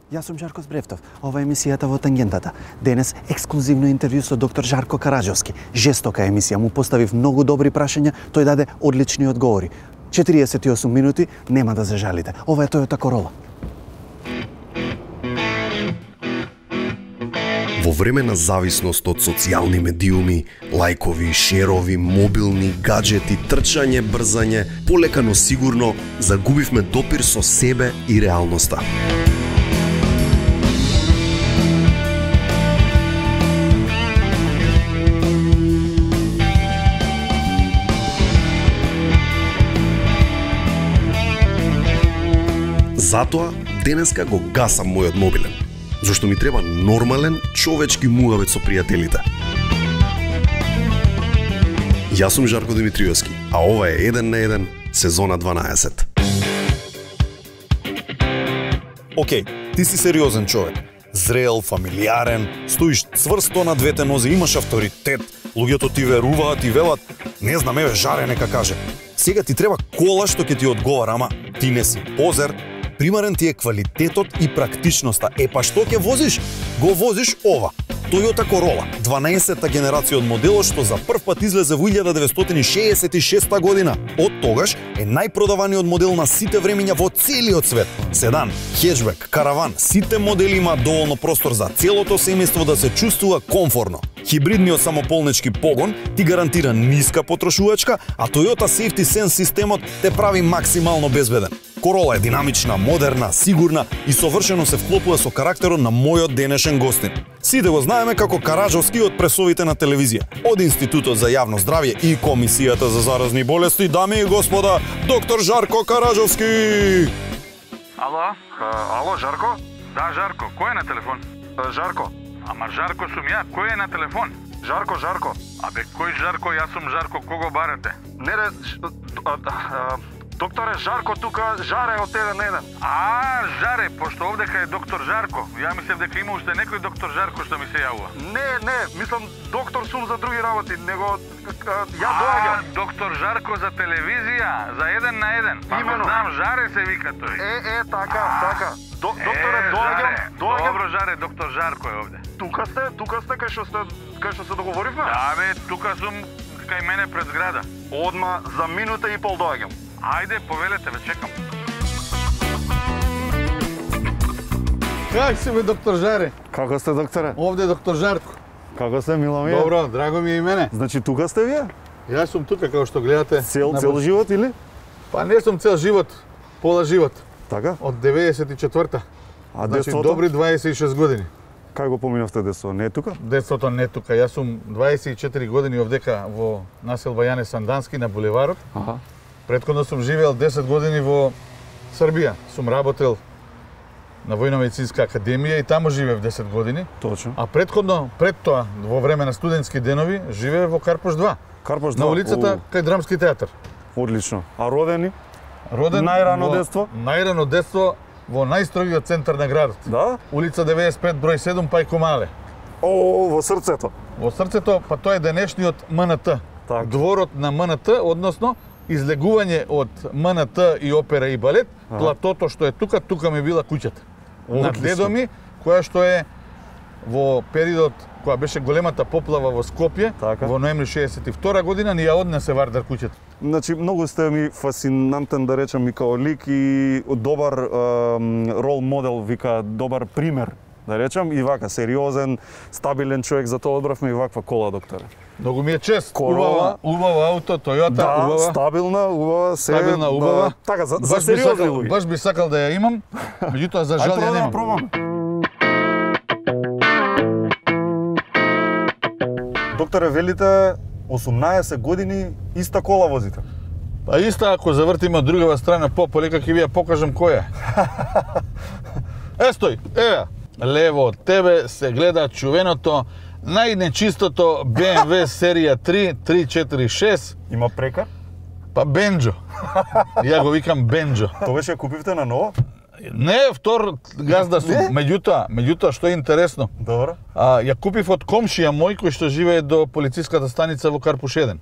Јас сум Жарко Збревтов. Ова е емисијата во Тангентата. Денес ексклузивно интервју со доктор Жарко Караџовски. Жестока емисија, му поставив многу добри прашања, тој даде одлични одговори. 48 минути, нема да зажалите. Ова е Toyota Corolla. Во време на зависност од социјални медиуми, лајкови, шерови, мобилни, гаджети, трчање, брзање, полека но сигурно загубивме допир со себе и реалноста. Затоа, денеска го гасам мојот мобилен, зашто ми треба нормален, човечки муавет со пријателите. Јас сум Жарко Димитриевски, а ова е 1 на 1, сезона 12. Океј, ти си сериозен човек. Зрел, фамилиарен, стоиш цврсто на двете нозе, имаш авторитет, луѓето ти веруваат и велат, не знам, еве Жаре нека каже. Сега ти треба кола што ќе ти одговара, ама ти не си позер. Примарен ти е квалитетот и практичноста. Па што ќе возиш? Го возиш ова. Toyota Corolla, 12-та генерација од моделот што за прв пат излезе во 1966 година. Од тогаш е најпродаваниот модел на сите времиња во целиот свет. Седан, хеджбек, караван, сите модели имаат доволно простор за целото семејство да се чувствува комфорно. Хибридниот самополнечки погон ти гарантира ниска потрошувачка, а Toyota Safety Sense системот те прави максимално безбеден. Corolla е динамична, модерна, сигурна и совршено се вклопува со карактерот на мојот денешен гостин. Сите го знаеме како Караџовски од пресовите на телевизија, од Институтот за јавно здравје и Комисијата за заразни болести, дами и господа, доктор Жарко Караџовски. Ало, Жарко? Да, Жарко, кој е на телефон? Жарко. Ама Жарко сум ја, кој е на телефон? Жарко. Абе, кој Жарко? Јас сум Жарко, кого барате? Не, докторе Жарко тука, Жаре од 1 на 1. Жаре, пошто овдека е доктор Жарко. Ја мислев дека има уште некој доктор Жарко што ми се јавува. Не, мислам доктор сум за други работи, него ја доаѓам. Доктор Жарко за телевизија, за 1 на 1. Имено. Знам, Жаре се вика тој. Така. Докторе, доаѓам. Добро, Жаре, доктор Жарко е овде. Тука сте кај што се договоривме? Да, бе, тука сум кај мене пред зграда. Одма за минута и пол доаѓам. Ајде, повелете, ве чекам. Как си бе, доктор Жаре? Како сте, докторе? Овде е доктор Жарко. Како сте, мило ми е? Добро, драго ми е и мене. Значи тука сте вие? Јас сум тука, како што гледате. Цел живот или? Па не сум цел живот, пола живот. Така? Од 94-та. А значи, детството? добри 26 години. Кај го поминавте детство? Не е тука? Детството не е тука. Јас сум 24 години овдека во населба Јане Сандански на булеварот. Аха. Претходно сум живеел 10 години во Србија. Сум работел на Војно-медицинска академија и таму живеев 10 години. Точно. А пред тоа, во време на студентски денови, живеев во Карпош 2. Карпош 2. На улицата кај Драмски театар. Одлично. А родени? Роден најрано детство? Најрано детство во најстрогиот центар на градот. Да? Улица 95, број 7, Пајко Мале. Во срцето. Во срцето, па тоа е денешниот МНТ. Так. Дворот на МНТ, односно излегување од МНТ и опера и балет, платото што е тука ми била куќата. Над дедо ми, која што е во периодот која беше големата поплава во Скопје, така, во ноември 62 година, ни ја однесе Вардар куќата. Значи, многу сте ми фасинантен, да речем, и као лик и добар рол модел, вика, добар пример, да речем, и вака, сериозен, стабилен човек, за тоа одбравме и ваква кола, докторе. Многу ми е чест. Corolla. Убава ауто, Toyota, да, убава. Стабилна, убава, се. Стабилна, убава. Да, така, за сериозни луѓе. Баш би сакал да ја имам, меѓутоа за жал ја немам. Пробам. Докторе, велите 18 години иста кола возите? Па иста, ако завртиме од другава страна полека ќе ви ја покажам која. Стој, еве, лево од тебе се гледа чувеното најнечистото BMW серија 3 346. Има прекар? Па Бенџо. Ја го викам Бенџо. Тогаш ја купивте на ново? Не, втор газда сум. Меѓутоа што е интересно. Добро. Ја купив од комшија мој кој што живее до полициската станица во Карпуш 1.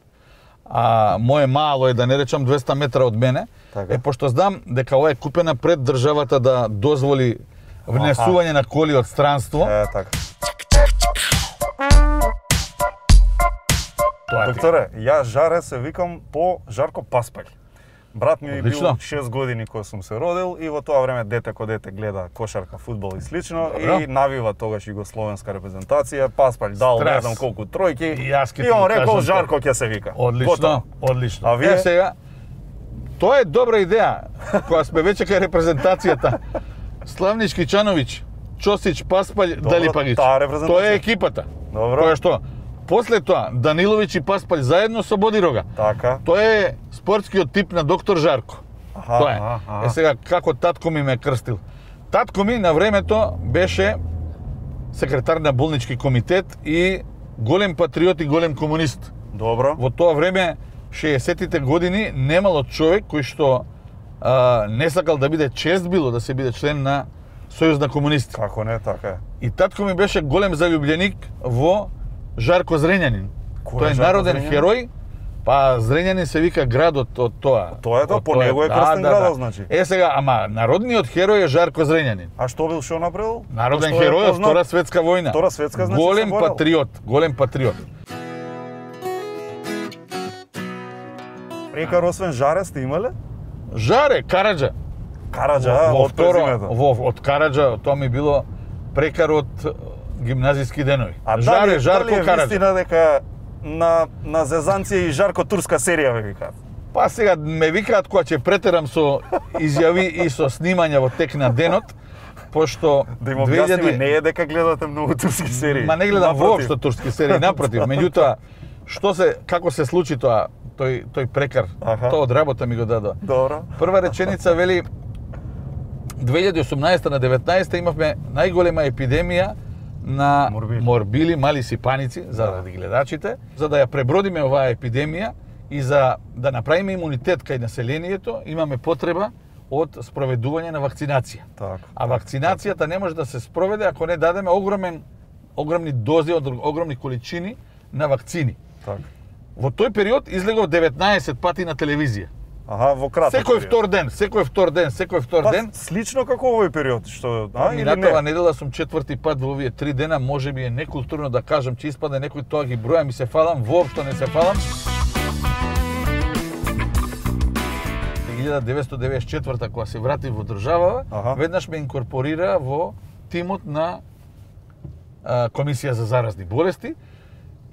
Моje мало е, да не речам 200 метра од мене. Така. Пошто знам дека ова е купена пред државата да дозволи внесување на коли од странство. Така. Тоа ти. Докторе, ја Жаре се викам по Жарко Паспалј. Брат ми бил Одлично. 6 години кога сум се родил и во тоа време дете ко дете гледа кошарка, фудбал и слично Добро. и навива тогаш југословенска репрезентација. Паспалј дал Страс. не знам колку тројки И јас ќе ти и он го рекол кажам Жарко ќе се вика. Одлично, Готово. одлично. А вие? Сега, тоа е добра идеја, кога сме веќе кај репрезентацијата. Славнички Чановиќ, Чосич, Паспалј, Добро, Далипагиќ. таа репрезентација. Тоа е екипата. Добро. Која што, после тоа, Даниловиќ и Паспалј заедно со Бодирога. Така. Тоа е спортскиот тип на доктор Жарко. Аха, Тоа е. аха. Е сега, како татко ми ме крстил. Татко ми на времето беше секретар на болнички комитет и голем патриот и голем комунист. Добро. Во тоа време, 60-тите години, немало човек кој што не сакал да биде чест било да се биде член на Сојуз на комунисти. Како не, така е. И татко ми беше голем заљубленик во Жарко Зрењанин. Кој Тој е е Жарко народен Зрењанин? херој, па Зрењанин се вика градот од тоа. Тоа е тоа, Од по него е крстен градот, значи. Е сега, ама народниот херој е Жарко Зрењанин. А што бил што направил? Народен Што е херој од познат? Втора светска војна. Втора светска, значи, голем се борел. патриот, голем патриот. Прекар освен Жаре сте имале? Жаре, Караџа. Караџа, Во од второ, презимето. од Караџа, тоа ми било прекар од гимназиски денови. А Жаре, Жарко дали е Караџа. вистина дека на Зезанција и Жарко турска серија ве викаат? Па сега ме викаат кога ќе претерам со изјави и со снимања во тек на денот, пошто Да им објасниме, не е дека гледате многу турски серии. Ма не гледам Напротив. воопшто турски серии, напротив. Меѓутоа, како се случи тоа, тој прекар, Аха. тоа од работа ми го дадоа. Добро. Прва реченица вели 2018 на 19 имавме најголема епидемија на морбили, мали сипаници, заради гледачите, за да ја пребродиме оваа епидемија и за да направиме имунитет кај населението, имаме потреба од спроведување на вакцинација. Така. А вакцинацијата не може да се спроведе ако не дадеме огромни дози, огромни количини на вакцини. Така. Во тој период излегов 19 пати на телевизија. Аха, во кратко. Секој втор ден. Слично како овој период, што или Минатава не? недела сум 4-ти пат во овие 3 дена, можеби е некултурно да кажам че испадне некој тоа ги бројам и се фалам, воопшто не се фалам. 1994 кога се вратив во држава, веднаш ме инкорпорира во тимот на Комисија за заразни болести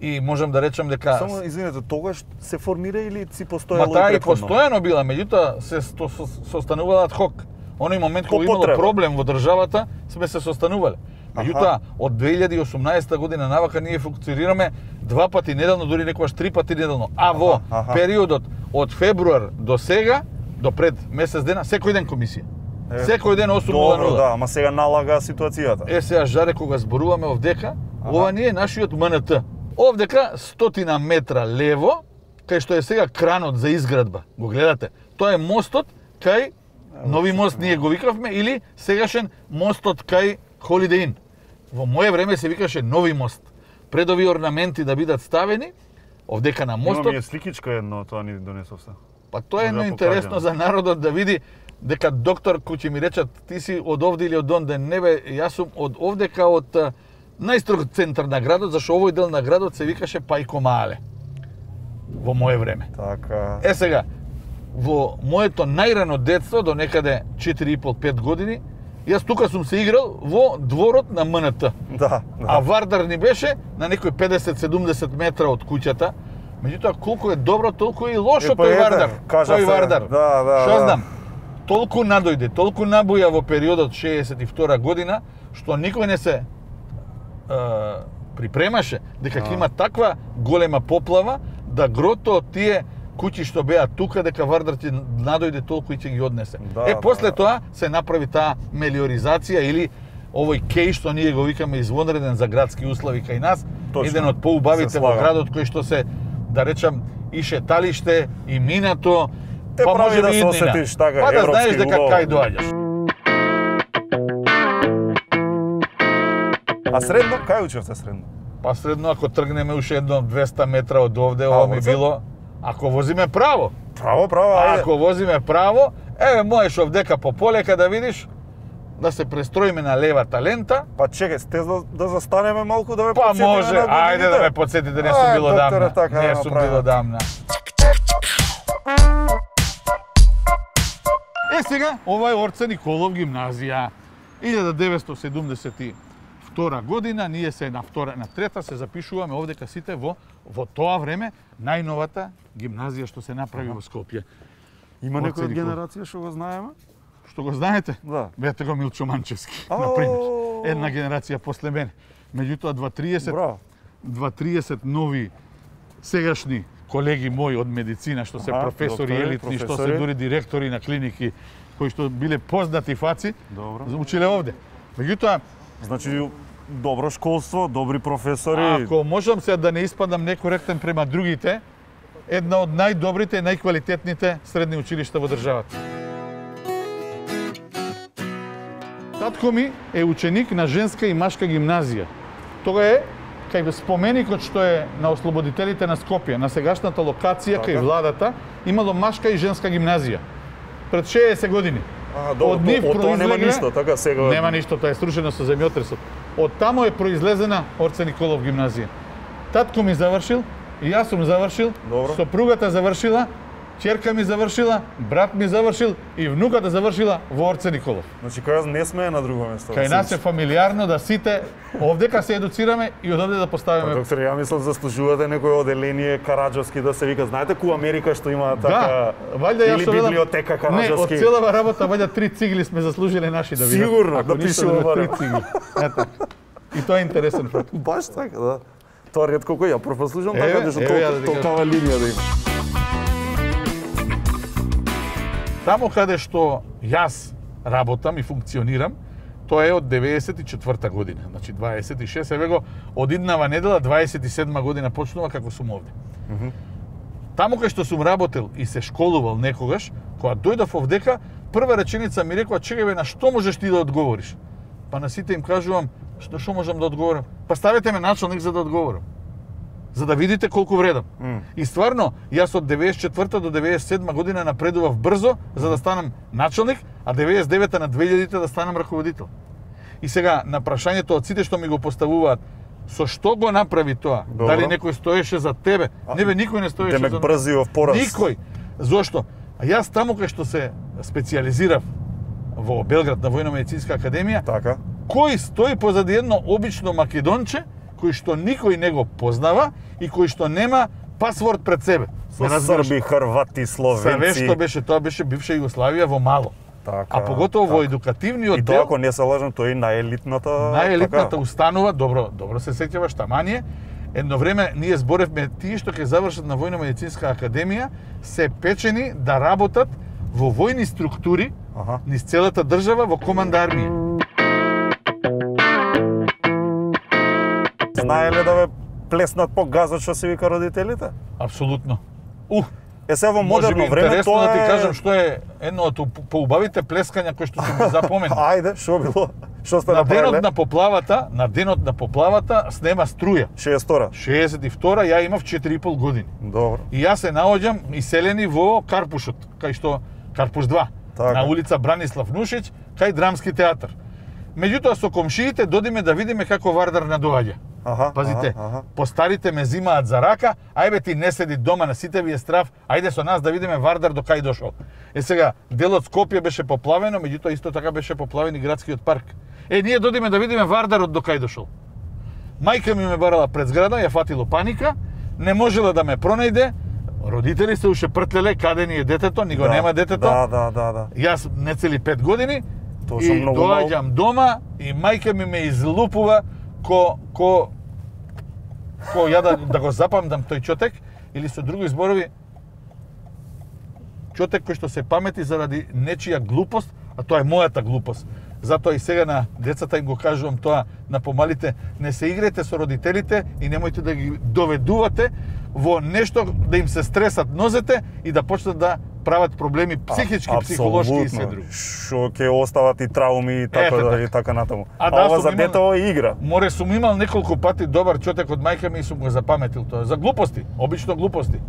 и можам да речам дека Само извинете, тогаш се формира или си постоело Ма таа и претходно? постојано била, меѓутоа се состанувала ад хок. Оној момент кога имало потреба. проблем во државата, сме се состанувале. Меѓутоа, од 2018 година навака ние функционираме 2 пати неделно, дури некогаш 3 пати неделно. А во периодот од февруар до сега, до пред месец дена, секој ден комисија. Секој ден 8:00. Добро, да, ама сега налага ситуацијата. Е, сега Жаре, кога зборуваме овдека, ова не е нашиот МНТ. Овдека 100 метра лево, кај што е сега кранот за изградба. Го гледате? Тоа е мостот кај Нови мост ние го викавме или сегашен мостот кај Holiday Inn. Во моје време се викаше Нови мост. Пред овие орнаменти да бидат ставени, овдека на мостот. Имам ја сликичка едно, тоа ни донесов се. Па тоа е едно интересно за народот да види дека доктор кој ќе ми речат ти си од овде или од онде, не бе, јас сум од овдека од најстрог центар на градот, зашто овој дел на градот се викаше Пајко Маале. Во моје време. Така. Е сега, во моето најрано детство, до некаде 4,5-5 години, јас тука сум се играл во дворот на МНТ. Да. А Вардар ни беше на некој 50-70 метра од куќата. Меѓутоа, колку е добро, толку е и лошо тој Вардар. Тој Вардар. Што знам? Толку надојде, толку набуја во периодот 62 година, што никој не се припремаше дека ќе има таква голема поплава да грото од тие куќи што беа тука, дека Вардар ќе надојде толку и ќе ги однесе. После тоа се направи таа мелиоризација или овој кеј што ние го викаме извонреден за градски услови кај нас, еден од поубавите во градот кој што се, да речам, и шеталиште, и минато, те па може да би се осетиш така па да знаеш европски дека улов. кај доаѓаш. А средно, кај учевте средно? Па средно, ако тргнеме уште едно 200 метра од овде, ова ми било, ако возиме право. Право, ајде. Ако возиме право, еве можеш овдека по полека да видиш, да се престроиме на левата лента. Па чекај, сте да застанеме малку да ме Па подсетиме може, на годините? ајде да ме подсетите, не сум било докторе, дамна. така Не да сум направиме. било дамна. Сега, ова е Орце Николов гимназија. 1972 година, ние се на трета се запишуваме овдека сите во тоа време најновата гимназија што се направи во Скопје. Има Орце некој од Николов. генерација што го знаеме? Што го знаете? Да. Бете го Милчо Манчевски, например. Една генерација после мене. Меѓутоа 2-30 Браво. 2-30 нови сегашни колеги мои од медицина, што се професори доктори, елитни, што се професори. дури директори на клиники, кои што биле познати фаци, Добро. училе овде. Меѓутоа, Значи, добро школство, добри професори. ако можам сега да не испадам некоректен према другите, една од најдобрите и најквалитетните средни училишта во државата. Татко ми е ученик на женска и машка гимназија. Тога е кај споменикот што е на ослободителите на Скопје, на сегашната локација кај владата, имало машка и женска гимназија. Пред 60 години. добро, од нив од тоа нема произлегле- ништо, така сега. Нема ништо, тоа е срушено со земјотресот. Од тамо е произлезена Орце Николов гимназија. Татко ми завршил, и јас сум завршил, Добро. сопругата завршила, ќерка ми завршила, брат ми завршил и внуката завршила во Орце Николов. Значи, кај не сме на друго место. Кај нас е фамилиарно да сите овдека се едуцираме и од овде да поставиме. Доктор, ја мислам заслужувате некој оделение Караџовски да се вика. Знаете ку Америка што има така Да, вајда ја или што велам- библиотека Не, од Караџовски? целава работа вајда 3 цигли сме заслужиле наши да видат. Сигурно, Ако да ништо пишува да барем. 3 цигли. Ето. И тоа е интересен факт. Баш така, да. Тоа ретко кој ја прослушам Еве, така, што еве ја да ти толкава линија да има. Тамо каде што јас работам и функционирам, тоа е од 94 година. Значи 26, еве го, од иднава недела 27 година почнува како сум овде. Тамо кај што сум работел и се школувал некогаш, кога дојдов овдека, прва реченица ми рекоа: "Чекај бе, на што можеш ти да одговориш?" Па на сите им кажувам: "Што можам да одговорам? Па ставете ме началник за да одговорам." За да видите колку вредам. И стварно, јас од 94 до 97 година напредував брзо за да станам началник, а 99 на 2000 да станам раководител. И сега, на прашањето од сите што ми го поставуваат, со што го направи тоа? Добро. Дали некој стоеше за тебе? Не бе, никој не стоеше Демек за брзиов пораст. Никој. Зошто? А јас таму кај што се специјализирав во Белград на Војно-медицинска академија, Така. кој стои позади едно обично македонче, кој што никој не го познава и кој што нема пасворд пред себе. Со Ме разбираш? срби, хрвати, словенци. Све што беше, тоа беше бивша Југославија во мало. Така, А поготово во така. едукативниот И тоа, дел, ако не се лажам, тоа е најелитната... најелитната така. установа, добро се сеќаваш, тамање, едно време ние зборевме тие што ќе завршат на Војно-медицинска академија, се печени да работат во војни структури Аха. низ целата држава во команда армија. Знаеле да ве плеснат по газот што се вика родителите? Апсолутно. Е, се во Може би модерно време интересно тоа да ти е... кажам што е едно од поубавите плескања кои што се ми запомени. Ајде, што било? Што сте На денот направиле? на поплавата снема струја. 62-ра. 62 ја имав 4,5 години. Добро. И јас се наоѓам иселени во Карпушот, кај што Карпуш 2, Така. на улица Бранислав Нушич, кај Драмски театар. Меѓутоа со комшиите додиме да видиме како Вардар надоаѓа. Аха, Пазите, аха. постарите ме зимаат за рака, ајбе ти не седи дома, на сите ви е страв, ајде со нас да видиме Вардар до кај дошол. Е сега, делот Скопје беше поплавено, меѓутоа исто така беше поплавен и градскиот парк. Е, ние додиме да видиме Вардарот до кај дошол. Мајка ми ме барала пред зграда, ја фатило паника, не можела да ме пронајде, родители се уште пртлеле каде ни е детето, ни го нема детето. Да. Јас не цели 5 години Тоа сум и многу доаѓам дома и мајка ми ме излупува ко ја да го запамдам тој чотек, или со други зборови, чотек кој што се памети заради нечија глупост, а тоа е мојата глупост. Затоа и сега на децата им го кажувам тоа, на помалите, не се играјте со родителите и немојте да ги доведувате во нешто да им се стресат нозете и да почнат да прават проблеми психички, психолошки и се други. Што ќе остават и трауми и така Ете и така натаму. А А да, ова сум за имал- детево е игра. Море сум имал неколку пати добар чотек од мајка ми и сум го запаметил тоа. За глупости, обично глупости.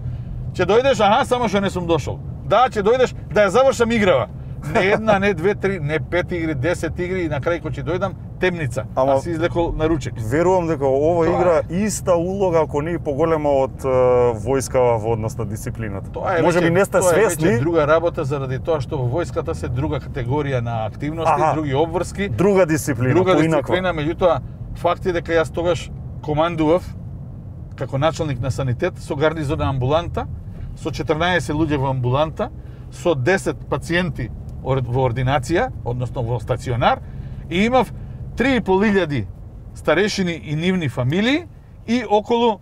Ќе дојдеш, аха, само што не сум дошол. Да, ќе дојдеш да ја завршам играва. Не една, не две, три, не 5 игри, 10 игри и на крај кога ќе дојдам темница. Ама, а си излекол на ручек. Верувам дека ова Тоа игра иста улога, ако не и поголема од војскава во однос на дисциплината. Може би не сте свесни. Тоа е друга работа заради тоа што во војската се друга категорија на активности, други обврски, друга дисциплина, дисциплина, меѓутоа факт е дека јас тогаш командував како началник на санитет со гарнизона амбуланта, со 14 луѓе во амбуланта, со 10 пациенти во ординација, односно во стационар, и имав 3.500 старешини и нивни фамилии и околу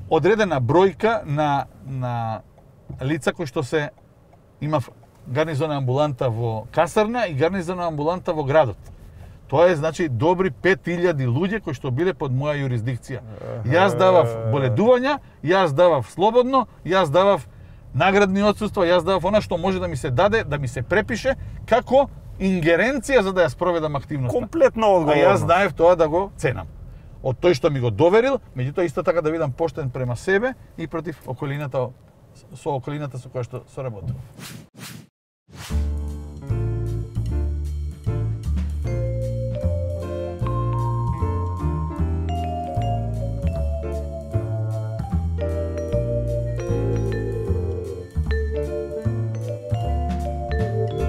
одредена бројка на лица кои што се имав гарнизона амбуланта во касарна и гарнизона амбуланта во градот. Тоа е, значи, добри 5000 луѓе кои што биле под моја юрисдикција. Јас давав боледувања, јас давав слободно, јас давав наградни отсуства, јас давав она што може да ми се даде, да ми се препише како ингеренција за да ја спроведам активноста. Комплетна одговорност. А јас знаев тоа да го ценам. Од тој што ми го доверил, меѓутоа исто така да бидам поштен према себе и против околината, со околината со која што соработував.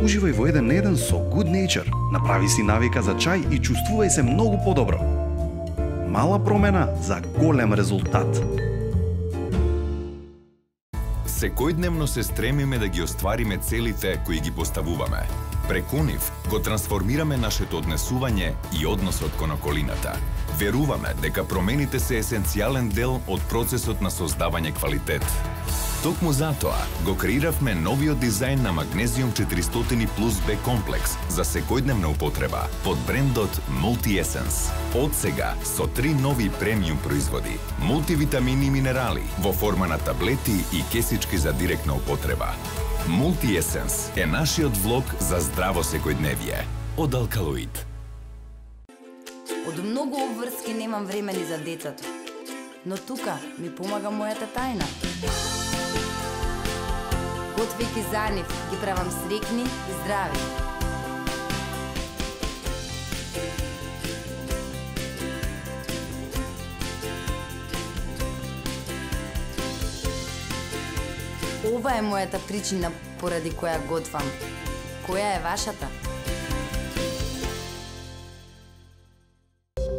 Уживај во 1 на 1 со Good Nature. Направи си навика за чај и чувствувај се многу подобро. Мала промена за голем резултат. Секојдневно се стремиме да ги оствариме целите кои ги поставуваме. Преку нив го трансформираме нашето однесување и односот кон околината. Веруваме дека промените се есенцијален дел од процесот на создавање квалитет. Токму затоа го креиравме новиот дизајн на Magnesium 400 Plus B комплекс за секојдневна употреба под брендот Multi Essence. Од сега со 3 нови премиум производи, мултивитамини и минерали во форма на таблети и кесички за директна употреба. Multi Essence е нашиот влог за здраво секојдневие од Алкалоид. Од многу обврски немам време ни за децата, но тука ми помага мојата тајна. Готвејќи за нив, ги правам срекни и здрави. Ова е мојата причина поради која готвам. Која е вашата?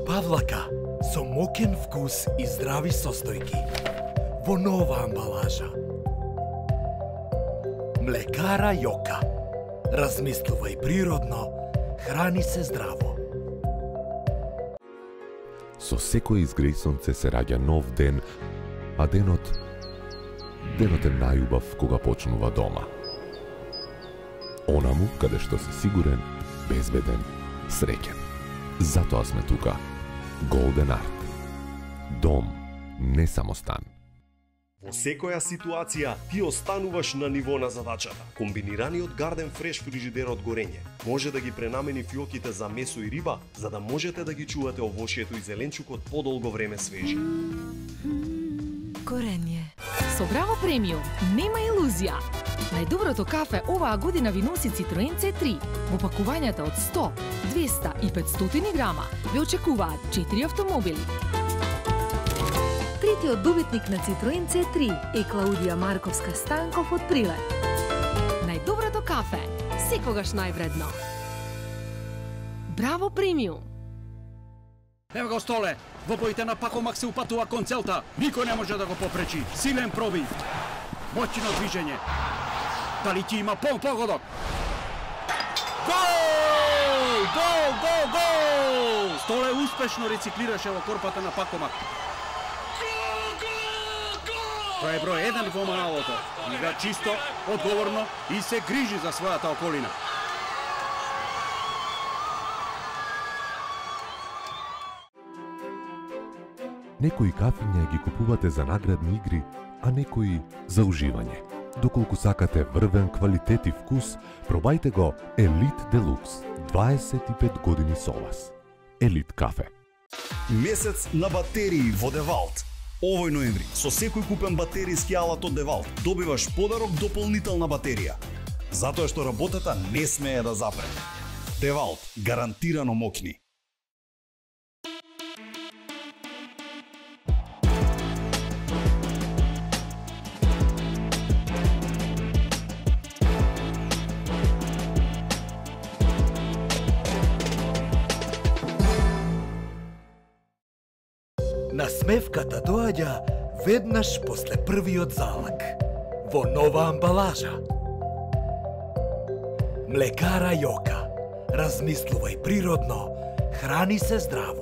Павлака со мокен вкус и здрави состојки во нова амбалажа. Млекара Јока. Размислувај природно, храни се здраво. Со секој изгреј сонце се раѓа нов ден, а денот е најубав кога почнува дома. Онаму каде што си сигурен, безбеден, среќен. Затоа сме тука. Golden Art. Дом, не само стан. Во секоја ситуација ти остануваш на ниво на задачата. Комбинираниот Garden Fresh фрижидер од горење може да ги пренамени фиоките за месо и риба, за да можете да ги чувате овошјето и зеленчукот подолго време свежи. Горење. Со Браво Премиум нема илузија. Најдоброто кафе оваа година ви носи Citroen C3. Во пакувањата од 100, 200 и 500 грама ве очекуваат 4 автомобили. Третиот добитник на Citroen C3 е Клаудија Марковска Станков од Прилеп. Најдоброто кафе, секогаш највредно. Браво Премиум. Ево го Столе, во боите на Пакомак се упатува кон целта. Никој не може да го попречи. Силен пробив. Моќно движење. Дали ќе има погодок? Гол! Гол, гол, гол! Столе успешно рециклираше во корпата на Пакомак. Тоа е број 1 во малото. Игра чисто, одговорно и се грижи за својата околина. Некои кафиња ги купувате за наградни игри, а некои за уживање. Доколку сакате врвен квалитет и вкус, пробајте го Елит Делукс. 25 години со вас. Елит кафе. Месец на батерии во Девалт. Овој ноември, со секој купен батеријски алат од Девалт, добиваш подарок дополнителна батерија. затоа што работата не смее да запре. Девалт, гарантирано мокни. Насмевката доаѓа веднаш после првиот залак, во нова амбалажа. Млекара Јока. Размислувај природно, храни се здраво.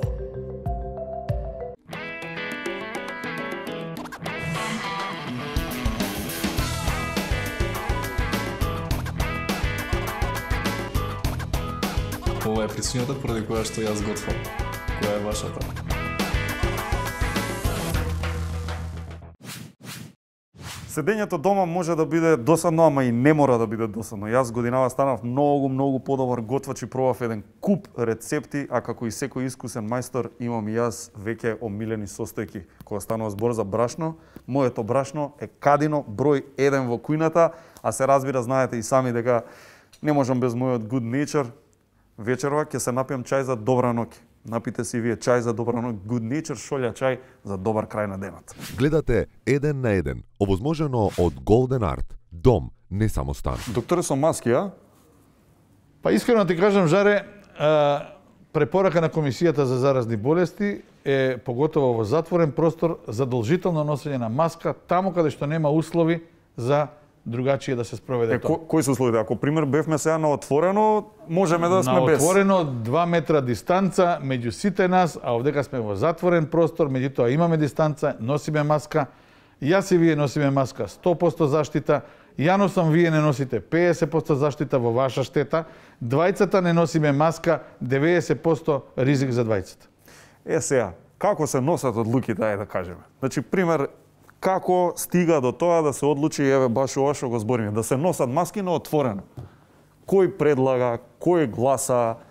Ова е причината поради која што јас готвам. Која е вашата? Седењето дома може да биде досадно, ама и не мора да биде досадно. Јас годинава станав многу подобар готвач и пробав еден куп рецепти, а како и секој искусен мајстор имам и јас веќе омилени состојки. Кога станува збор за брашно, моето брашно е кадино број 1 во кујната, а се разбира, знаете и сами дека не можам без мојот good nature. Вечерва ќе се напијам чај за добра ноќ. Напите си вие чај за добра ноќ, good nature шолја чај за добар крај на денот. Гледате 1 на 1, овозможено од Golden Art. Дом, не само стан. Докторе, со маски, а? Па искрено ти кажам, Жаре, препорака на Комисијата за заразни болести е, поготово во затворен простор, задолжително носење на маска таму каде што нема услови за другачие да се спроведе тоа. Кои се условите? Ако пример бевме сега на отворено, можеме да сме без. На отворено 2 метра дистанца меѓу сите нас, а овдека сме во затворен простор, меѓутоа имаме дистанца, носиме маска. Јас и вие носиме маска 100% заштита. Ја носам, вие не носите 50% заштита во ваша штета. Двајцата не носиме маска, 90% ризик за двајцата. Сега, како се носат одлуките, ајде да кажеме. Значи, пример, како стига до тоа да се одлучи, еве баш ова што го збориме, да се носат маски на отворено? Кој предлага, кој гласа,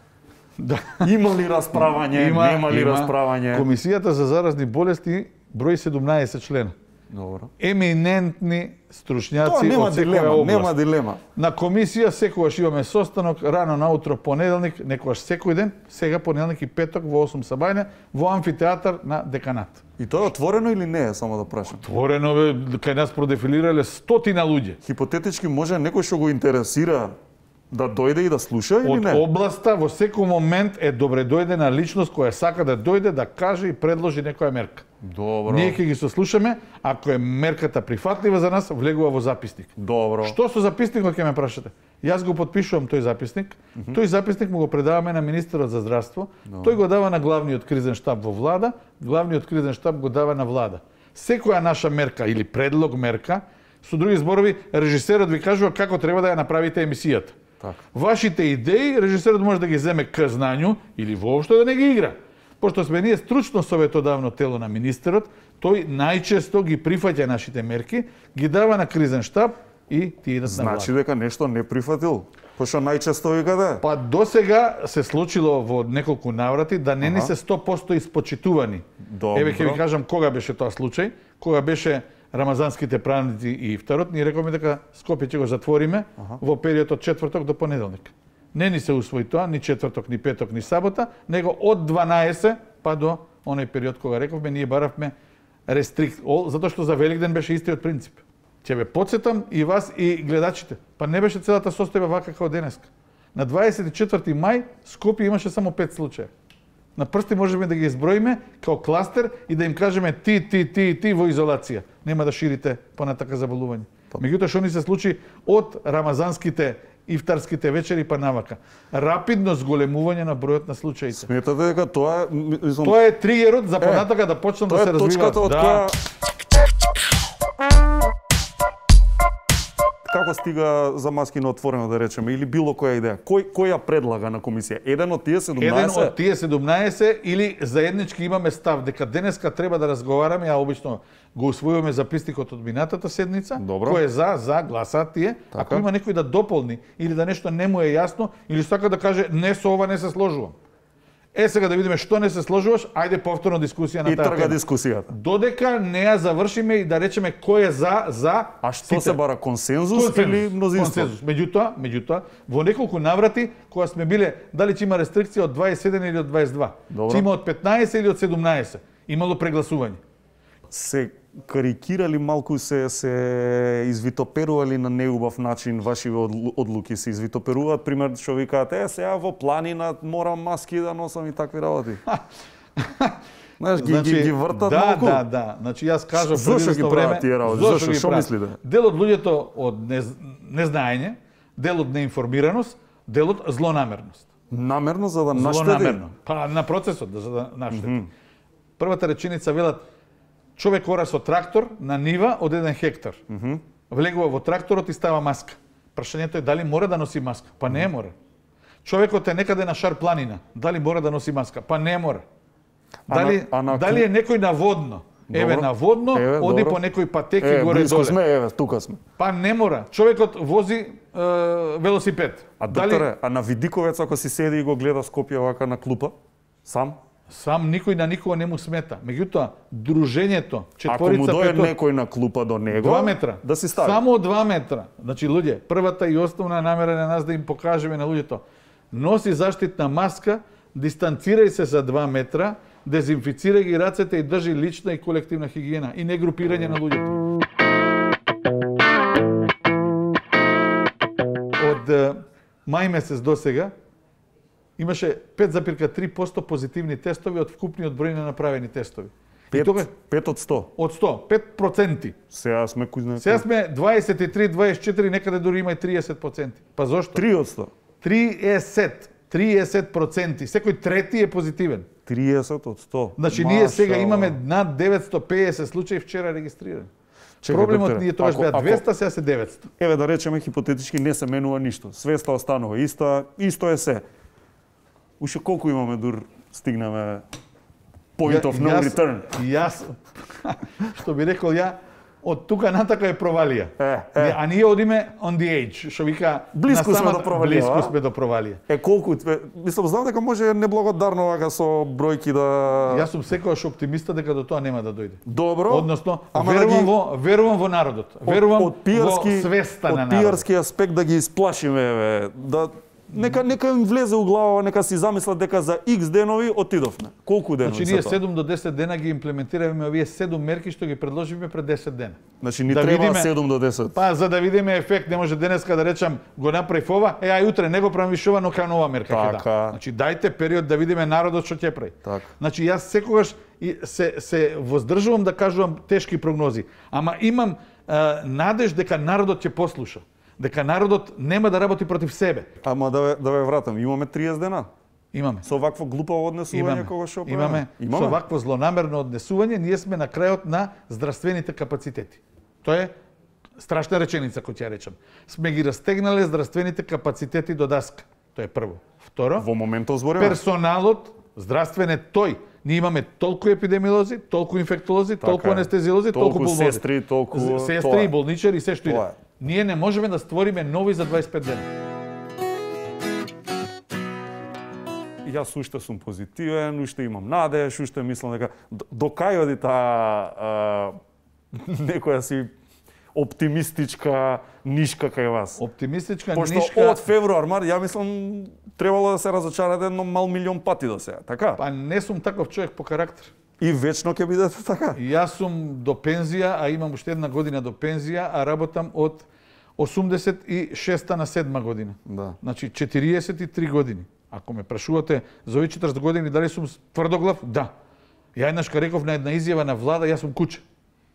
да. Има ли расправање, нема ли расправање? Комисијата за заразни болести број 17 члена. Добро. Еминентни стручњаци од секоја област. Нема дилема. На комисија секогаш имаме состанок рано наутро понеделник, некогаш секој ден, сега понеделник и петок во 8 сабајне во амфитеатар на Деканат. И тоа е отворено или не е, само да прашам? Отворено бе, кај нас продефилирале стотина луѓе. Хипотетички може некој што го интересира да дојде и да слуша или не? Од областа во секој момент е добре дојдена личност која сака да дојде да каже и предложи некоја мерка. Добро. Ние ќе ги сослушаме, ако е мерката прифатлива за нас, влегува во записник. Добро. Што со записникот ќе ме прашате? Јас го потпишувам тој записник. Тој записник му го предаваме на министерот за здравство. Тој го дава на главниот кризен штаб во влада, главниот кризен штаб го дава на влада. Секоја наша мерка или предлог мерка, со други зборови, режисерот ви кажува како треба да ја направите емисијата. Вашите идеи, режисерот може да ги земе к знању или воопшто да не ги игра. Пошто сме ние стручно советодавно тело на министерот, тој најчесто ги прифаќа нашите мерки, ги дава на кризен штаб и ти идат на влада. Значи дека нешто не прифатил? Пошто најчесто вика да? Па досега се случило во неколку наврати да не ни се 100% испочитувани. Добро. Еве ќе ви кажам кога беше тоа случај, кога беше рамазанските празници и ифтарот, ние рековме дека Скопје ќе го затвориме во период од четврток до понеделник. Не ни се усвои тоа, ни четврток, ни петок, ни сабота, него од 12 па до оној период кога рековме, ние баравме рестрикт, затоа што за Великден беше истиот принцип. Ќе ве потсетам и вас и гледачите. Па не беше целата состојба вака како денеска. На 24 мај Скопје имаше само 5 случаи. На прсти можеме да ги изброиме како кластер и да им кажеме ти во изолација. Нема да ширите понатака заболување. Меѓутоа што ни се случи од рамазанските ифтарските вечери па навака. Рапидно зголемување на бројот на случаите. Сметате дека тоа е... Тоа е тригерот за понатака да почнат да се развиваат. Тоа е точката од која... Како стига за маски на отворено, да речеме, или било која идеја? Кој ја предлага на комисија? Еден од тие 17? Еден од тие 17 или заеднички имаме став дека денеска треба да разговараме, а обично го усвојуваме записникот од минатата седница. Добро. Кој е за гласаат тие. Така. Ако има некој да дополни или да нешто не му е јасно или сака да каже не со ова не се сложувам. сега да видиме што не се сложуваш, ајде повторно дискусија на И таа трга тема. дискусијата. Додека не ја завршиме и да речеме кој е за. А што се бара, консензус или мнозинство? Консензус. Меѓутоа, во неколку наврати кога сме биле дали ќе има рестрикција од 21 или од 22, ќе има од 15 или од 17, имало прегласување. Се карикирали малку, се извитоперували на неубав начин ваши одлуки, се извитоперуваат, пример што викаат, сега во планина морам маски да носам и такви работи. Знаеш, ги вртат малку. Да. Значи јас кажав зошто ги прават тие работи? Зошто, што мислите? Дел од луѓето од незнаење, дел од неинформираност, дел од злонамерност. Намерно за да наштеди? Злонамерно. Па на процесот за да наштеди. Првата реченица велат човек ора со трактор на нива од 1 хектар. Влегува во тракторот и става маска. Прашањето е дали мора да носи маска? Па не мора. Човекот е некаде на шар планина. Дали мора да носи маска? Па не мора. Дали е некој на водно? Еве на водно, оди по некој патеки горе близко доле. сме, еве, тука сме. Па не мора. Човекот вози велосипед. А докторе, а на Видиковец ако си седи и го гледа Скопје вака на клупа, сам? Сам никој на никого не му смета. Меѓутоа, дружењето, ако му четворица, дојде пето, некој на клупа до него, 2 метра. да си стави. Само 2 метра. Значи, луѓе, првата и основна намера на нас да им покажеме на луѓето. Носи заштитна маска, дистанцирај се за 2 метра, дезинфицирај ги рацете и држи лична и колективна хигиена и не групирање на луѓето. Од мај месец до сега имаше 5,3% позитивни тестови од вкупниот број на направени тестови. 5 од 100. Од 100, 5%. Сега сме кујне. Сега сме 23, 24, некаде дури има и 30%. Па зошто? 3 од 100. 30%. Секој трети е позитивен. 30 од 100. Значи ние сега имаме над 950 случаи вчера регистрирани. Проблемот ние тогаш беа 200, сега се 900. Еве да речеме хипотетички не се менува ништо. Свеста останува иста, исто е се. Уште колку имаме дур стигнеме point of no return? Јас, што би рекол ја, од тука натака е провалија. А ние одиме on the edge, што вика... Близко сме до провалија. Близко сме до провалија. Колку... Мислам, знам дека може неблагодарно вака со бројки да... Јас сум секогаш оптимиста дека до тоа нема да дојде. Добро. Односно, верувам во народот. Верувам во свеста на народот. Од пиарски аспект да ги исплашиме, еве, да... Нека им влезе у глава, нека си замислат дека за X денови отидовме. Колку денови? Значи ние 7 до 10 дена ги имплементираме овие 7 мерки што ги предложивме пред 10 дена. Значи ни треба 7 до 10. Па за да видиме ефект, не може денеска да речам го направив ова, ај утре не го правам више ова, но кај нова мерка ќе дам. Значи дајте период да видиме народот што ќе прави. Значи јас секогаш се воздржувам да кажувам тешки прогнози, ама имам надеж дека народот ќе послуша. Дека народот нема да работи против себе. Ама да ве вратам, имаме 30 дена. Имаме. Со вакво глупаво однесување кога што имаме. Со вакво злонамерно однесување, ние сме на крајот на здравствените капацитети. Тоа е страшна реченица која ќе ја речам. Сме ги растегнале здравствените капацитети до даска. Тоа е прво. Второ, во моментот збориме. Персоналот здравствен е тој. Ние имаме толку епидемиолози, толку инфектолози, толку анестезиолози, толку пулмолози. Сестри, толку сестри, болничари и се што иде. Ние не можеме да створиме нови за 25 дена. Јас уште сум позитивен, уште имам надеж, уште мислам дека до кај оди таа некоја си оптимистичка нишка кај вас. Оптимистичка нишка. Пошто од февруар, ја мислам требало да се разочарате едно мал милион пати до сега, така? Па не сум таков човек по карактер. И вечно ќе бидете така? Јас сум до пензија, а имам уште една година до пензија, а работам од 86-та на 7 година. Да. Значи 43 години. Ако ме прашувате за овие 40 години дали сум тврдоглав, да. Ја еднашка реков на една изјава на влада, јас сум куче.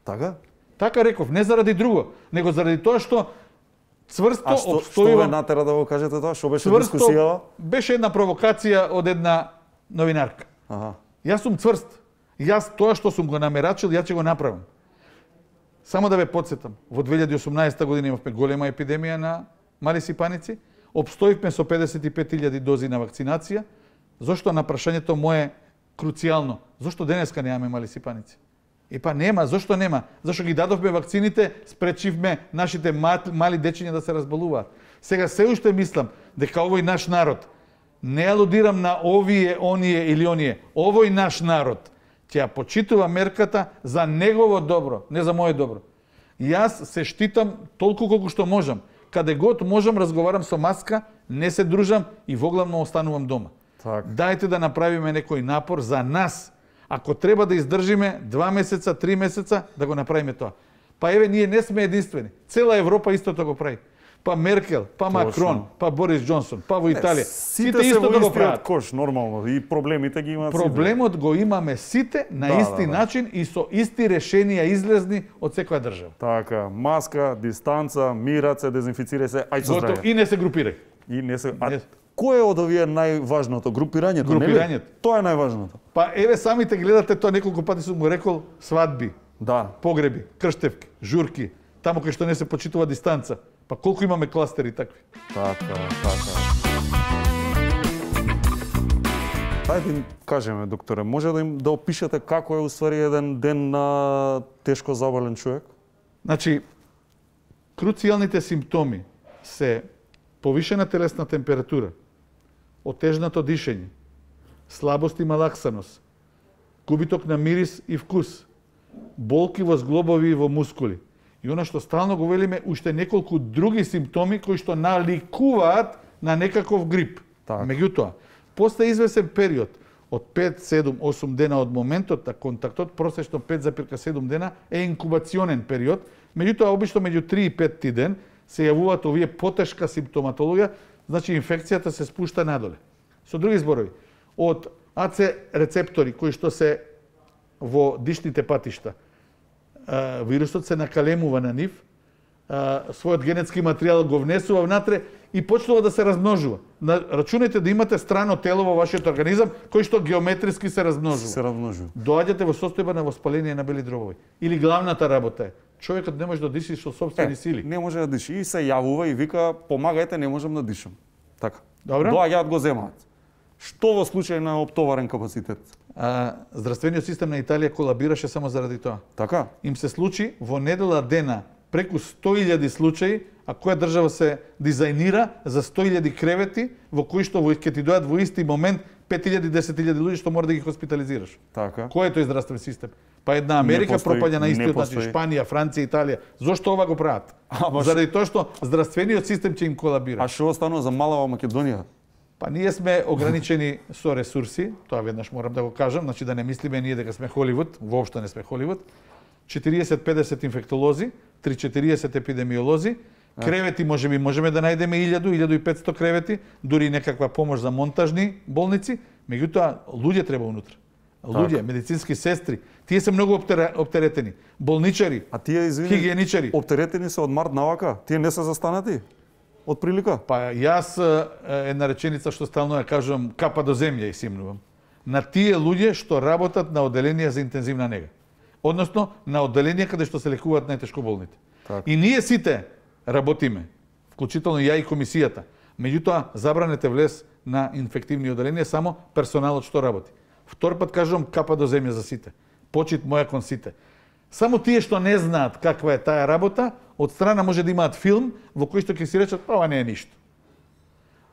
Така? Така реков, не заради друго, него заради тоа што цврсто обстојувам. Што ве натера да го кажете тоа? Што беше дискусија? Беше една провокација од една новинарка. Јас сум цврст. Јас тоа што сум го намерачил, ја ќе го направам. Само да ве потсетам, во 2018 година имавме голема епидемија на мали сипаници, обстоивме со 55.000 дози на вакцинација. Зошто на прашањето мое круцијално? Зошто денеска немаме мали сипаници? Епа нема, зошто нема? Зашто ги дадовме вакцините, спречивме нашите мали дечиња да се разболуваат. Сега се уште мислам дека овој наш народ Не алудирам на овие, оние или оние. Овој наш народ ќе ја почитува мерката за негово добро, не за моје добро. Јас се штитам толку колку што можам. Каде год можам, разговарам со маска, не се дружам и воглавно останувам дома. Так. Дајте да направиме некој напор за нас. Ако треба да издржиме 2 месеца, 3 месеца, да го направиме тоа. Па еве, ние не сме единствени. Цела Европа истото го прави. Па Меркел, па Макрон, па Борис Џонсон, па во Италија. Сите исто да го прават. Кош, нормално, и проблемите ги имаат. Проблемот го имаме сите на исти начин и со исти решенија излезни од секоја држава. Така, маска, дистанца, мират се, дезинфицирај се, ај со здравје. И не се групирај. И не се... Кој е од овие најважното? Групирањето, Групирањето. Тоа е најважното. Па еве самите гледате тоа, неколку пати сум го рекол, свадби, погреби, крштевки, журки, таму кај што не се почитува дистанца. Па колку имаме кластери такви? Така. Ајде кажеме, докторе, може да опишете како е уствари еден ден на тешко заболен човек? Значи, круцијалните симптоми се повишена телесна температура, отежнато дишење, слабост и малаксаност, губиток на мирис и вкус, болки во зглобови и во мускули. И она што стално го велиме, уште неколку други симптоми кои што наликуваат на некаков грип. Меѓутоа, после извесен период од 5, 7, 8 дена од моментот на контактот, просечно 5,7 дена е инкубационен период, меѓутоа обично меѓу 3 и 5 ден се јавуваат овие потешка симптоматологија, значи инфекцијата се спушта надоле. Со други зборови, од АЦ рецептори кои што се во дишните патишта, вирусот се накалемува на нив, својот генетски материјал го внесува внатре и почнува да се размножува. Рачунете да имате страно тело во вашиот организам кој што геометриски се размножува. Доаѓате во состојба на воспаление на бели дробови. Или главната работа е, човекот не може да диши со сопствени сили. Не може да диши и се јавува и вика, помагајте, не можам да дишам. Така. Добро. Доаѓаат го земаат. Што во случај на оптоварен капацитет? Здравствениот систем на Италија колабираше само заради тоа. Така? Им се случи во недела дена преку 100.000 случаи, а која држава се дизајнира за 100.000 кревети во кои што ќе ти дојат во исти момент 5.000, 10.000 луѓе што мора да ги хоспитализираш. Така. Кој е тој здравствен систем? Па една Америка пропаѓа на истиот начин, Шпанија, Франција, Италија. Зошто ова го прават? Заради тоа што здравствениот систем ќе им колабира. А што останува за малава Македонија? Па ние сме ограничени со ресурси, тоа веднаш морам да го кажам, значи да не мислиме ние дека сме Холивуд, воопшто не сме Холивуд. 40-50 инфектолози, 3-40 епидемиолози, кревети можеме да најдеме 1000-1500 кревети, дури некаква помош за монтажни болници, меѓутоа луѓе треба унутра. Луѓе, медицински сестри, тие се многу оптеретени, болничари, хигиеничари. Оптеретени се од март навака, тие не се застанати? Од прилика? Па јас една реченица што стално ја кажувам, капа до земја и симнувам. На тие луѓе што работат на оделенија за интензивна нега. Односно, на оделенија каде што се лекуваат најтешко болните. И ние сите работиме, вклучително ја и комисијата. Меѓутоа, забранете влез на инфективни оделенија само персоналот што работи. Втор пат кажувам, капа до земја за сите. Почит моја кон сите. Само тие што не знаат каква е таа работа, од страна може да имаат филм во кој што ќе си речат, ова не е ништо.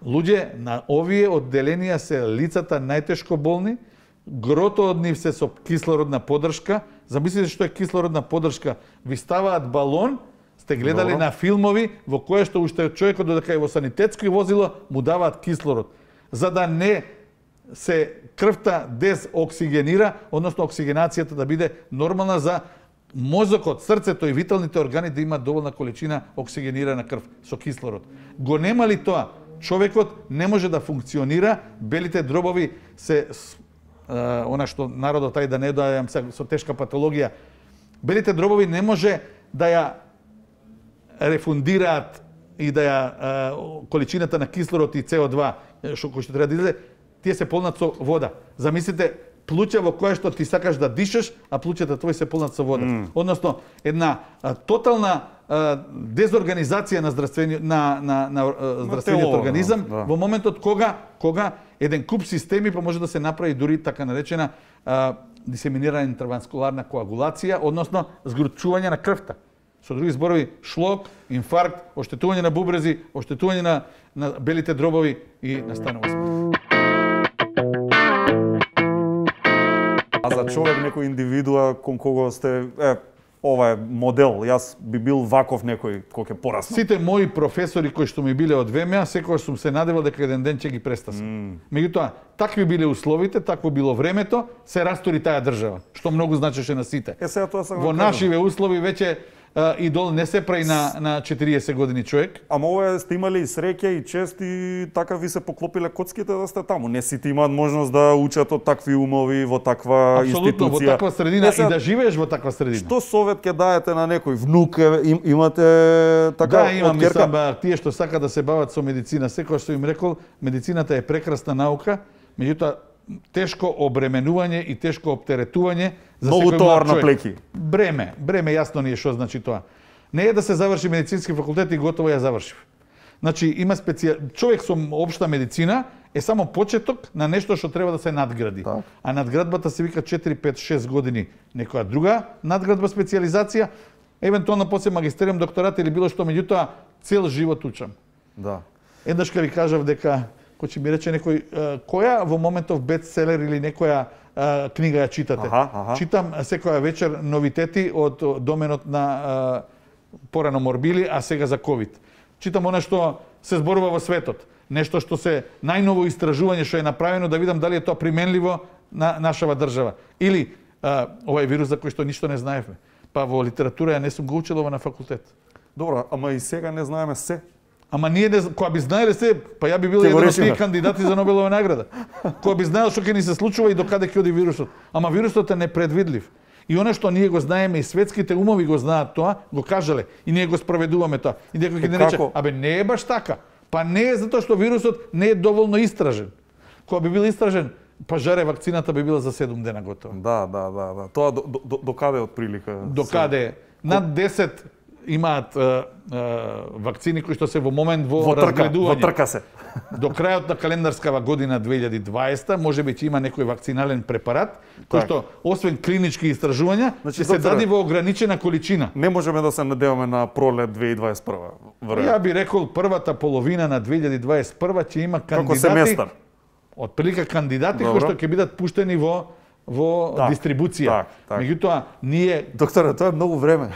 Луѓе на овие одделенија се лицата најтешко болни, грото од нив се со кислородна поддршка. Замислите што е кислородна поддршка. Ви ставаат балон, сте гледали на филмови во која што уште човекот додека е во санитетско возило му даваат кислород, за да не се крвта дезоксигенира, односно оксигенацијата да биде нормална за мозокот, срцето и виталните органи да имаат доволна количина оксигенирана крв со кислород. Го нема ли тоа, човекот не може да функционира, белите дробови се она што народот ај да не доаѓам со тешка патологија, белите дробови не може да ја рефундираат и да ја количината на кислород и CO2 кој што треба да излезе, тие се полнат со вода. Замислите плуќа во која што ти сакаш да дишаш, а плуќата твои се полнат со вода. Односно, една тотална дезорганизација на здравствениот организам во моментот кога еден куп системи па може да се направи дури така наречена дисеминирана интервенскуларна коагулација, односно згручување на крвта. Со други зборови, шлок, инфаркт, оштетување на бубрези, оштетување на белите дробови и настанува смрт. А за човек, некој индивидуа кон кого сте, ова е модел, јас би бил ваков некој кој ќе пораснам. Сите мои професори кои што ми биле од ВМА, секогаш сум се надевал дека еден ден ќе ги престасам. Меѓутоа, такви биле условите, такво било времето, се растори таа држава, што многу значеше на сите. Сега тоа сакам Во нашиве услови веќе идол не се прави на 40 години човек. Ама ова сте имали и среќа и чест и така ви се поклопиле коцките да сте таму. Не сите имаат можност да учат од такви умови во таква институција. Во таква средина и да живееш во таква средина. Што совет ќе даете на некој внук? Имате така Да, имам мислам, тие што сакаат да се бават со медицина, секој што им рекол, медицината е прекрасна наука, меѓутоа тешко обременување и тешко оптеретување за многу секој товар млад на плеки. Бреме јасно ни е што значи тоа. Не е да се заврши медицински факултет и готово ја завршив. Значи има човек со општа медицина е само почеток на нешто што треба да се надгради. Так. А надградбата се вика 4, 5, 6 години некоја друга надградба, специјализација, евентуално после магистериум, докторат или било што, меѓутоа цел живот учам. Да. Еднаш ка ви кажав дека кој ќе ми рече некој која во моментов бестселер или некоја книга ја читате. Читам секоја вечер новитети од доменот на порано морбили, а сега за ковид. Читам она што се зборува во светот, нешто што се најново истражување што е направено, да видам дали е тоа применливо на нашава држава. Или овој вирус за кој што ништо не знаевме. Па во литература ја не сум го учел ова на факултет. Добро, ама и сега не знаеме се. Ама ние не, кога би знаеле се, па ја би бил еден од тие кандидати за Нобелова награда. Кога би знаел што ќе ни се случува и докаде ќе оди вирусот. Ама вирусот е непредвидлив. И она што ние го знаеме и светските умови го знаат тоа, го кажале и ние го спроведуваме тоа. И некој ќе ни рече, абе не е баш така. Па не е затоа што вирусот не е доволно истражен. Кога би бил истражен, па жаре вакцината би била за 7 дена готова. Да. Тоа до каде отприлика? До каде? Над 10 имаат вакцини кои што се во момент во разгледување. Во трка се. До крајот на календарскава година 2020 можеби ќе има некој вакцинален препарат кој што освен клинички истражувања ќе се даде во ограничена количина. Не можеме да се надеваме на пролет 2021. Ја би рекол првата половина на 2021 ќе има кандидати. Како семестар. Отприлика кандидати кои што ќе бидат пуштени во дистрибуција. Меѓутоа ние докторе, тоа е многу време.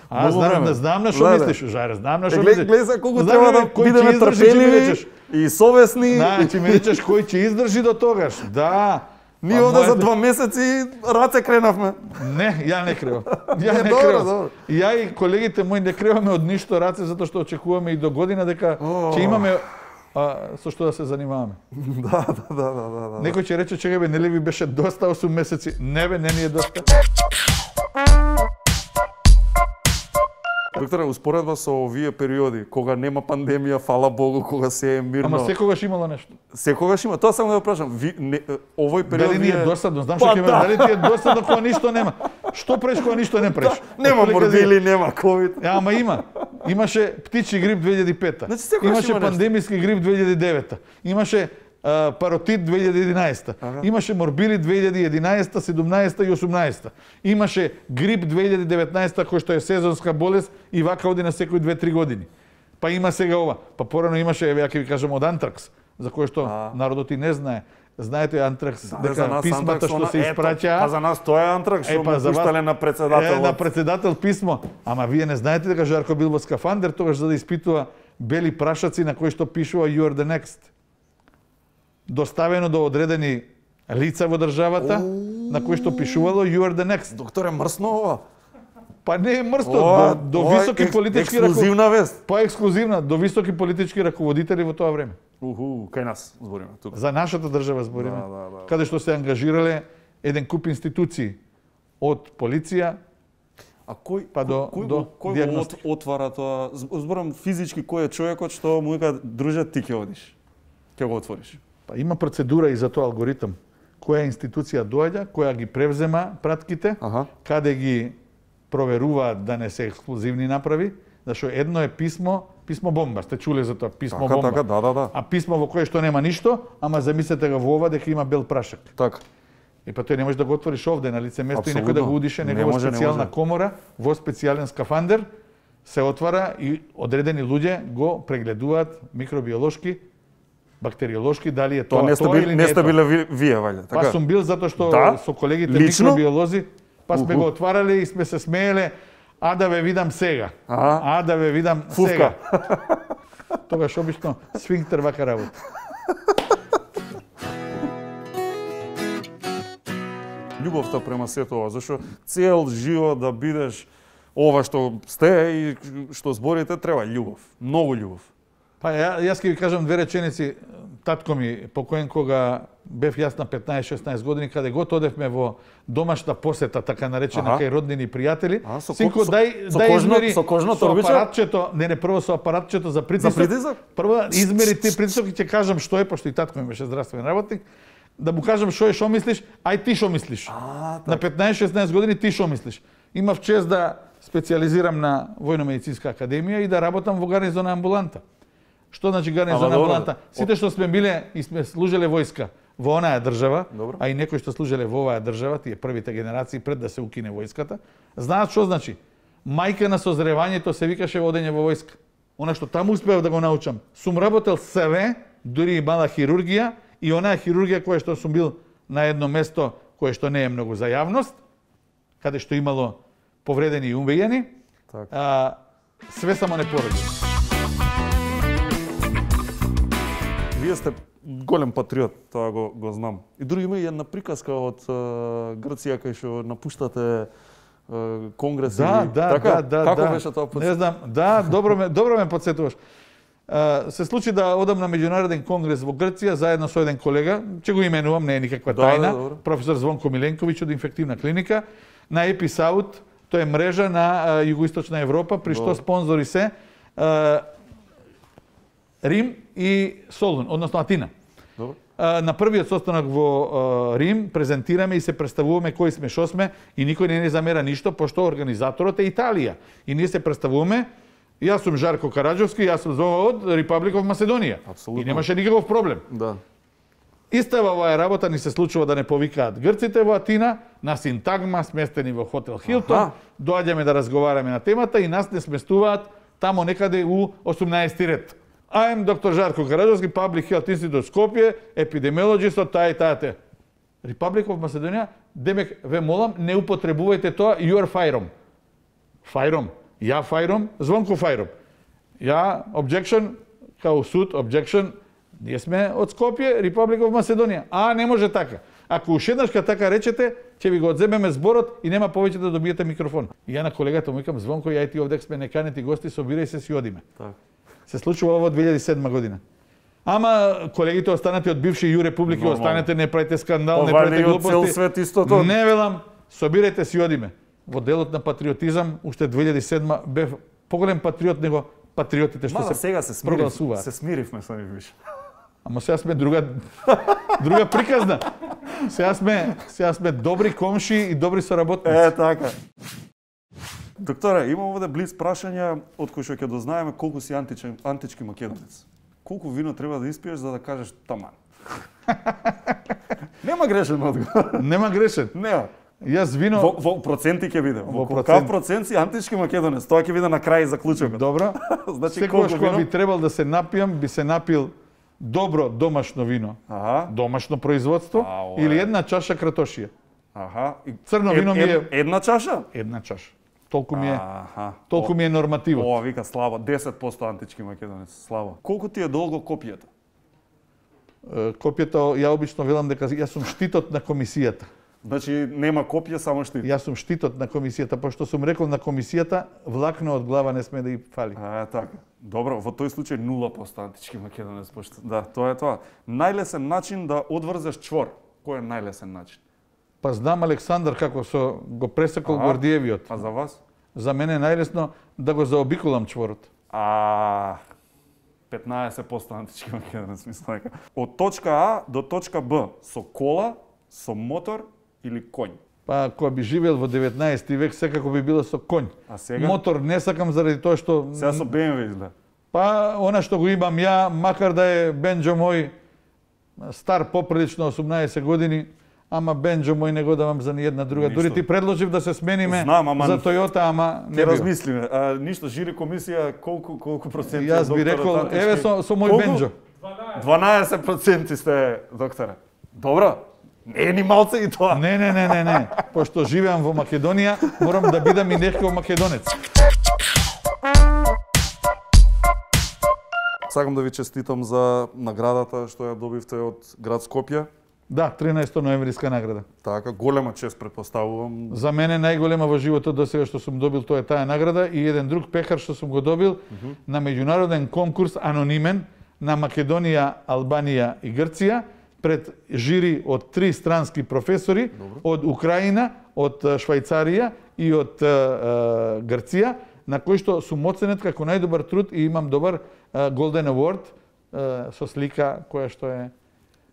Знам на што мислиш, Жаре, знам на што мислиш. Гледај се колку треба да бидеме трпеливи и совесни. Значи ми речеш кој ќе издржи до тогаш. Да. Ние овде за 2 месеци раце кренавме. Не, ја не кревам. Ја не кревам. Ја и колегите мои не креваме од ништо раце затоа што очекуваме и до година дека ќе имаме со што да се занимаваме. Да. Некој ќе рече чекај бе, нели ви беше доста 8 месеци? Не бе, не ни е доста. Докторе, успоредба со овие периоди, кога нема пандемија, фала Богу, кога се е мирно. Ама секогаш имало нешто. Секогаш има. Тоа само да прашам. Овој период дали ни е досадно? Знам што ќе ме, дали ти е досадно кога ништо нема? Што правиш кога ништо не правиш? Нема морбили, нема ковид. Ама има. Имаше птичи грип 2005. Имаше пандемиски грип 2009. Имаше паротит 2011. Имаше морбили 2011, 17 и 18. Имаше грип 2019 кој што е сезонска болест и вака оди на секој 2-3 години. Па има сега ова. Па порано имаше, ја ќе ви кажам, од антракс, за кој што народот и не знае. Знаете антракс, дека писмата што се испраќаа. А за нас тоа е антракс, што му пуштале на председател. На председател писмо. Ама вие не знаете дека Жарко бил во скафандер тогаш за да испитува бели прашаци на кои што пишува You are the next. Доставено до одредени лица во државата, на кои што пишувало You are the next. Докторе, мрсно ова? Па не е мрсно, до високи политички ексклузивна вест. Па ексклузивна, до високи политички раководители во тоа време. Кај нас збориме тука. За нашата држава збориме. Каде што се ангажирале еден куп институции од полиција, а кој па до диагностика. Отвара тоа? Зборам физички кој е човекот што му вика друже ти ќе одиш. Ќе го отвориш. Па има процедура и за тоа алгоритам. Која институција доаѓа, која ги превзема пратките, каде ги проверуваат да не се ексклузивни направи, зашто едно е писмо бомба, сте чуле за тоа, писмо бомба. Така, да. А писмо во кое што нема ништо, ама замислете го во ова дека има бел прашак. Така. И па тој не можеш да го отвориш овде на лице место и некој да го удише, него во специјална комора, во специјален скафандер се отвара и одредени луѓе го прегледуваат микробиолошки бактериолошки, дали е Тоа тоа тоа или не не е сте тоа. биле вие, ваljda, така? Па сум бил затоа што со колегите Лично? микробиолози, па сме го отварале и сме се смееле, а да ве видам сега. А да ве видам сега. Тогаш обично сфинктер вака работа. Љубовта према сето ова, зашто цел живот да бидеш ова што сте и што зборите, треба љубов, многу љубов. Па јас ќе ви кажам две реченици. Татко ми покоен кога бев јас на 15-16 години, каде год одевме во домашна посета, така наречена, кај роднини и пријатели. Синко, дај измери со апаратчето, прво со апаратчето за притисок. Прво измери ти притисок и ќе кажам што е, пошто и татко ми беше здравствен работник. Да му кажам што е, што мислиш, ај ти што мислиш. На 15-16 години ти што мислиш. Имав чест да специализирам на Војно-медицинска академија и да работам во гарнизона амбуланта. Што значи гарнизона амбуланта? Сите што сме биле и сме служеле војска во онаа држава, а и некои што служеле во оваа држава, тие првите генерации пред да се укине војската, знаат што значи. Мајка на созревањето се викаше водење во војска. Она што таму успеав да го научам. Сум работел СВ, дури и мала хирургија, и онаа хирургија која што сум бил на едно место кое што не е многу за јавност, каде што имало повредени и убиени, све само не породи. Вие сте голем патриот, тоа го знам. И други има и една приказка од Грција кај што напуштате конгрес или така? Како беше тоа? Не знам, добро ме подсетуваш. Се случи да одам на меѓународен конгрес во Грција заедно со еден колега, ќе го именувам, не е никаква тајна, професор Звонко Миленковиќ од инфективна клиника, на Еписаут, тоа е мрежа на југоисточна Европа, при што спонзори се Рим и Солун, односно Атина. На првиот состанок во Рим презентираме и се представуваме кои сме, што сме, и никој не замера ништо, пошто организаторот е Италија. И ние се представуваме, јас сум Жарко Караџовски, јас сум од Republic of Macedonia. И немаше никаков проблем. Истава оваа работа ни се случува да не повикаат грците во Атина, на синтагма, сместени во хотел Хилтон, доаѓаме да разговараме на темата и нас не сместуваат тамо некаде у 18 ред. I am Dr. Žarko Karadžovski, Public Health Institute Skopje, epidemiologist од таа и таа. Republic of Macedonia, демек, ве молам, не употребувајте тоа, you are фајром. Фајром. Ја фајром, Звонко фајром. Ја, objection, као суд, objection, ние сме од Скопје, Republic of Macedonia. Не може така. Ако ушеднашка така речете, ќе ви го одземеме зборот и нема повеќе да добиете микрофон. И ја на колегата му викам, Звонко, ја и ти овдек сме неканети гости, собирај се си одиме. Се случува ова во 2007 година. Ама колегите останати од бивши Ју Републики, останете, не правите скандал, не правите глупости. Не велам, собирајте си одиме. Во делот на патриотизам, уште 2007 бев поголем патриот него патриотите што се прогласуваат. Се смиривме со нив више. Ама сега сме друга приказна. Сега сме добри комши и добри соработници. Така. Докторе, имам овде близ прашања од кои што ќе дознаеме колку си антички македонец. Колку вино треба да испиеш за да кажеш таман? Нема грешен одговор. Нема грешен. Нема. Јас вино во проценти ќе биде. Во каков процент си антички македонец? Тоа ќе биде на крај заклучокот. Добро. Значи секогаш кога би требал да се напијам, би се напил добро домашно вино. Домашно производство или една чаша кратошија. Црно вино ми е една чаша? Една чаша. Толку ми е нормативот. Ова вика слабо, 10% антички македонец, слабо. Колку ти е долго копијата? Копијата, ја обично велам дека јас сум штитот на комисијата. Значи нема копија, само штит. Јас сум штитот на комисијата, пошто сум рекол на комисијата, влакно од глава не сме да и фали. Така. Добро, во тој случај 0% антички македонец, пошто да, тоа е тоа. Најлесен начин да одврзеш чвор. Кој е најлесен начин? Па знам Александар како го пресекол Гордиевиот. А за вас? За мене е најлесно да го заобиколам чворот. 15% антички македонец, мислам дека. Од точка А до точка Б со кола, со мотор или конј? Па кога би живеел во 19 век секако би било со конј. А сега? Мотор не сакам заради тоа што сега со BMW изгледа. Па она што го имам ја, макар да е бенџо мој стар поприлично 18 години, ама бенџо мој не го давам за ни една друга. Дури ти предложив да се смениме за Toyota, ама не бил. Размислиме. Ништо жири комисија колку проценти? Јас би рекол, еве со мој бенџо. 12% сте, докторе. Добро. Не е ни малце и тоа. Не. Пошто живеам во Македонија, морам да бидам и некој македонец. Сакам да ви честитам за наградата што ја добивте од град Скопје. Да, 13 ноемвриска награда. Така, голема чест претпоставувам. За мене најголема во животот до сега што сум добил тоа е таа награда и еден друг пехар што сум го добил на меѓународен конкурс анонимен на Македонија, Албанија и Грција пред жири од 3 странски професори од Украина, од Швајцарија и од Грција, на кој што сум оценет како најдобар труд и имам добар Golden Award со слика која што е...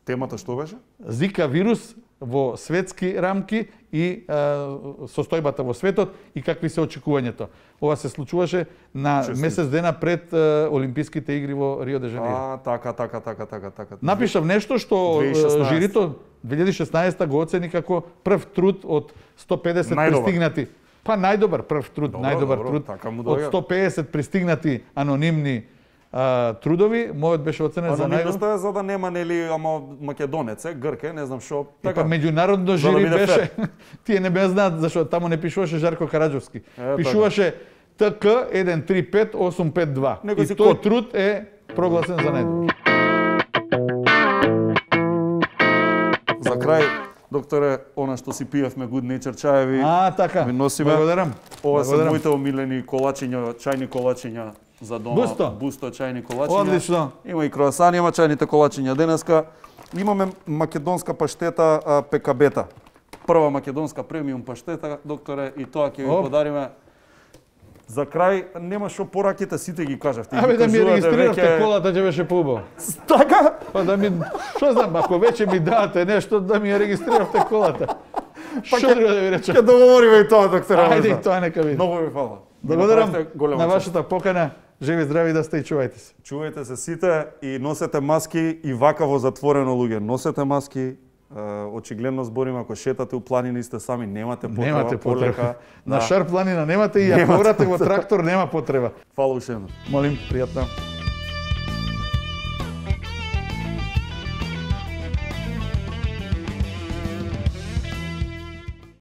Темата што беше? Зика вирус во светски рамки и состојбата во светот и какви се очекувањето. Ова се случуваше на месец дена пред Олимписките игри во Рио де Жанеиро. Така. Напишав нешто што 2016. жирито 2016 го оцени како прв труд од 150 пристигнати. Па најдобар прв труд, најдобар труд од 150 пристигнати анонимни трудови, мојот беше оценет за најдобар. За да нема нели ама македонец, грк, не знам што. Така меѓународно жири беше. Тие не бе знаат зашто таму не пишуваше Жарко Караџовски. Пишуваше ТК 135852. И тој труд е прогласен за најдобар. За крај, докторе, она што си пиевме Good Nature чаеви. Така. Ви носиме. Благодарам. Ова се моите омилени колачиња, чајни колачиња за дома. Бусто чајни колачиња. Одлично. Има и круасани, има чајните колачиња денеска. Имаме македонска паштета ПКБ-та. Прва македонска премиум паштета, докторе, и тоа ќе ви подариме. За крај, нема што пораките, сите ги кажавте. Абе да ми регистрирате колата, ќе беше поубаво. Така? Па да ми, што знам, ако веќе ми дадете нешто, да ми ја регистрирате колата. Што треба да ви речам? Ќе договориме и тоа, докторе. Ајде и тоа нека види. Многу ви фала. Благодарам на вашата покана. Живи здрави да сте и чувајте се. Чувајте се сите и носете маски и вака во затворено луѓе. Носете маски. Очигледно збориме, ако шетате у планини сте сами, немате потреба. На шар планина немате и ако орате во трактор нема потреба. Фала уште еднаш. Молим, пријатно.